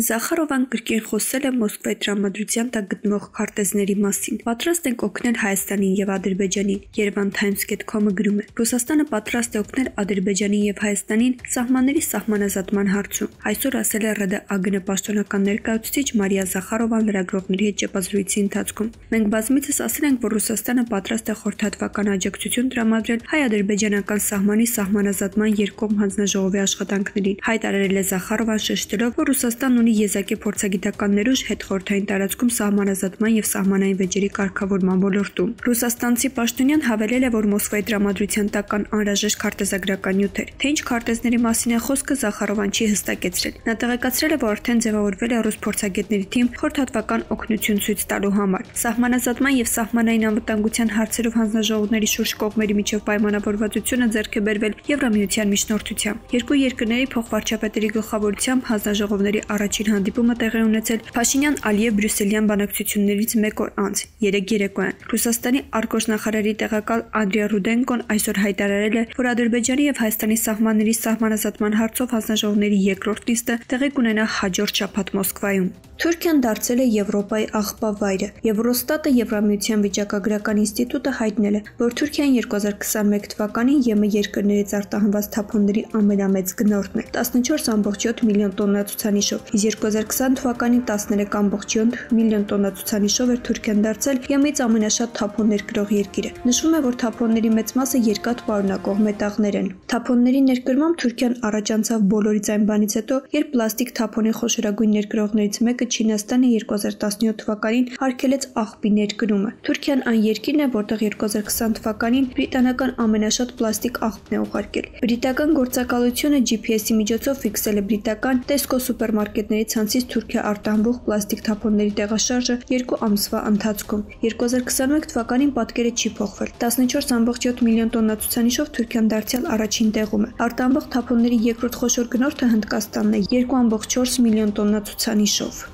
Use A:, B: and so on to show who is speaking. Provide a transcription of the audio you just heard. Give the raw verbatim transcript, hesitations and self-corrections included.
A: Զախարովան կրկին խոսել է Մոսկվայի տրամադրության տակ գտնվող քարտեզների մասին։ Պատրաստ ենք օգնել Հայաստանին եւ Ադրբեջանին, Yerevan Times dot com-ը գրում է։ Ռուսաստանը պատրաստ է օգնել Ադրբեջանին եւ Հայաստանին սահմանների սահմանազատման հարցում։ Այսօր ասել է ՌԴԱԳՆ պաշտոնական ներկայացուցիչ Մարիա Զախարովան լրագրողների հետ ճեպազրույցի ընթացքում։ Մենք բազմիցս ասել ենք, որ Ռուսաստանը պատրաստ է խորհրդատվական աջակցություն տրամադրել հայ-ադրբեջանական սահմանի սահմանազատման երկկողմ հանձնաժողովի աշխատանքներին։ Հայտարարել է Զախարովան, շեշտելով, որ Ռուսաստանն ունի եզակի փորձագիտական ներուժ հետխորհրդային տարածքում սահմանազատման եւ սահմանային վեճերի կարգավորման ոլորտում։ Ռուսաստանցի պաշտոնյան հավելել է, որ Մոսկվայի տրամադրության տակ կան անհրաժեշտ քարտեզագրական նյութեր։ Թե ինչ քարտեզների մասին է խոսքը, Զախարովան չի հստակեցրել։ Նա տեղեկացրել է, որ արդեն ձևավորվել է ռուս փորձագետների թիմ խորհրդատվական օգնություն ցույց տալու համար։ Սահմանազատման եւ սահմանային անվտանգության հարցերով հանձնաժողովների շուրջ կողմերի միջև պայմանավորվածությունը ձեռք է բերվել Եվրամիության միջնորդությամբ։ Երկու երկրների փոխվարչապետերի գլխավորությամբ հանձնաժողովների առաջին հանդիպումը տեղի ունեցել Փաշինյան-Ալիև-Բրյուսելյան բանակցություններից մեկ օր անց՝ երեկ երեկոյան։ Ռուսաստանի արտգործնախարարի տեղակալ Անդրիա Ռուդենկոն այսօր հայտարարել է, որ Ադրբեջանի եւ Հայաստանի սահմանների սահմանազատման հարցով հանձնաժողովների երկրորդ նիստը տեղի կունենա հաջորդ շաբաթ Մոսկվայում։ Թուրքիան դարձել է Եվրոպայի աղբավայրը։ Եվրոստատը Եվրամիության վիճակագրական ինստիտուտը հայտնել է, որ Թուրքիան երկու հազար քսաներկու թվականին ԵՄ երկրներից արտահանված թափոնների ամենամեծ գնորդն է՝ տասնչորս կόμμα յոթ միլիոն տոննա ցուցանիշով, իսկ երկու հազար քսան թվականին տասներեք կόμma յոթ միլիոն տոննա ցուցանիշով էր Թուրքիան դարձել ԵՄ-ից ամենաշատ թափոն ներկրող երկիրը։ Նշվում է, որ թափոնների մեծ մասը երկաթ պարունակող մետաղներ են։ Թափոնների ներկրմամբ Թուրքիան առաջանցավ բոլորից այն բանից հետո, երբ պլաստիկ թափոնի խոշորագույն ներկրողներից մեկը Չինաստանը երկու հազար տասնյոթ թվականին արգելեց աղբի ներկրումը։ Թուրքիան այն երկիրն է, որտեղ երկու հազար քսան թվականին բրիտանական ամենաշատ պլաստիկ աղբն է ուղարկել։ Բրիտական գործակալությունը Ջի Փի Էս-ի միջոցով ֆիքսել է բրիտական Tesco սուպերմարկետների ցանցից Թուրքիա արտահանվող պլաստիկ թափոնների տեղաշարժը երկու ամսվա ընթացքում։ երկու հազար քսաներկու թվականին պատկերը չի փոխվել։ տասնչորս կόμma յոթ միլիոն տոննա ցուցանիշով Թուրքիան դարձյալ առաջին տեղում է։ Արտահանվող թափոնների երկրորդ խոշոր գնորդը Հնդկաստանն է երկու կόμma չորս միլիոն տոննա ցուցանիշով։